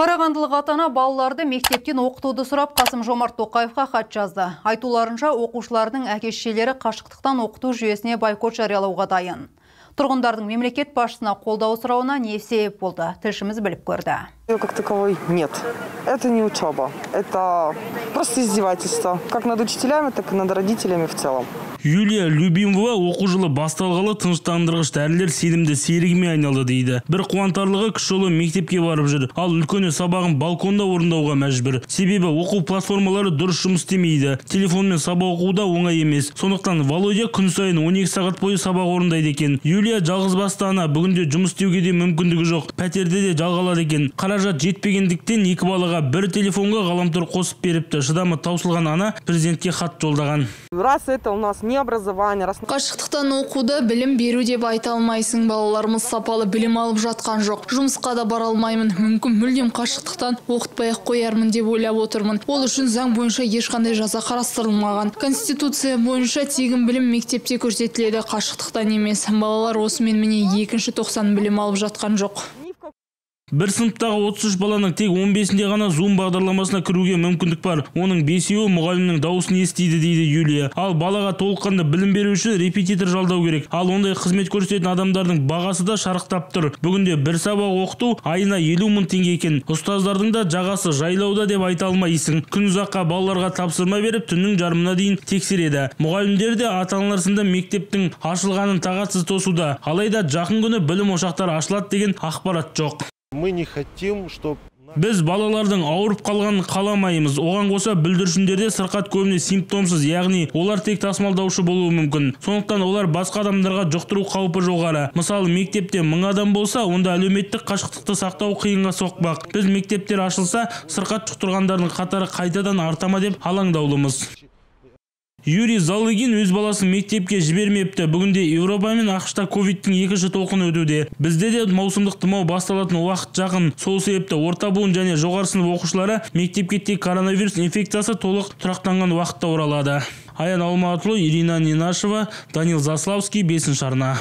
Қарағандылық ата-ана балаларды мектептен оқытуды сұрап Қасым-Жомарт Тоқаевқа хат жазды. Айтуларынша, оқушылардың әке-шешелері қашықтықтан оқыту жүйесіне бойкот жариялауға дайын. Тұрғындардың мемлекет басшысына қолдау сұрауына не себеп болды? Тілшіміз біліп көрді. Как таковой нет. Это не учеба. Это просто издевательство. Как над учителями, так и над родителями в целом. Юлия Любимова оқу жылы басталғалы тыныштандырғыш дәрілер сенімді серігіме айналды дейді. Бір қуантарлығы кіші ұлы мектепке барып жүр, ал үлкені сабағын балконда орындауға мәжбүр. Себебі оқу платформалары дұрыс жұмыс істемейді. Телефонмен сабақ оқу да оңай емес. Сондықтан Володя күн сайын 12 сағат бойы сабақ орындайды екен. Юлия жалғызбасты ана, бүгінде жұмыс істеуге де мүмкіндігі жоқ. Пәтерде де жалғалады екен. Қаражат жетпегендіктен екі балаға бір телефонға ғаламтор қосып беріпті. Шыдамы таусылған ана президентке хат жолдаған. Раз это у нас не образование, раз... Қашықтықтан оқуды білім беру деп айта алмайсың. Балаларымыз сапалы білім алып жатқан жоқ. Жұмысқа да бара алмаймын. Мүмкін мүлдем қашықтықтан оқытпай-ақ қоярмын деп ойлап отырмын. Ол үшін заң бойынша ешқандай жаза қарастырылмаған. Конституция бойынша тегін білім мектепте көрсетіледі, қашықтықтан емес. Балалар осымен міне 2-90 білім алып жатқан жоқ. Бір сыныптағы 33 баланың тек 15-інде ғана Zoom бағдарламасына кіруге мүмкіндік бар. Оның 5-еуі мұғалімнің дауысын естиді дейді Юлия. Ал балаға толыққанды білім беру үшін репетитор жалдау керек. Ал ондай қызмет көрсететін адамдардың бағасы да шарықтап тұр. Бүгінде бір сабақ оқыту айына 50 мың теңге екен. Ұстаздардың да жағасы жайлауда деп айта алмайсың. Күн ұзаққа балаларға тапсырма беріп, түннің жарымына дейін тексереді. Мұғалімдер де ата-аналар сынды мектептің ашылғанын тағатсыз тосуда. Алайда жақын күні білім ошақтары ашылады деген ақпарат жоқ. Мы не хотим, чтобы... Біз балалардың ауырып қалғанын қаламаймыз. Оған қоса бүлдіршіндерде сырқат көбіне симптомсыз, яғни олар тек тасымалдаушы болуы мүмкін. Сондықтан олар басқа адамдарға жұқтыру қаупі жоғары. Мысалы, мектепте 1000 адам болса, онда әлеуметтік қашықтықты сақтау қиынға соқпақ. Біз мектептер ашылса, сырқат жұқтырғандардың қатары қайтадан артама деп алаңдаулымыз. Юрий Залыгин өз баласын мектепке жібермепті. Бүгінде Еуропа мен ақш-та ковидтің екінші толқыны өтуде. Бізде де маусымдық тұмау басталатын уақыт жақын. Сол себепті орта буын және жоғары сынып оқушылары мектепке тек коронавирус инфекциясы толық тұрақтанған уақытта оралады. Аян Алматұлы, Ирина Нинашева, Данил Заславский, 5-ші арна.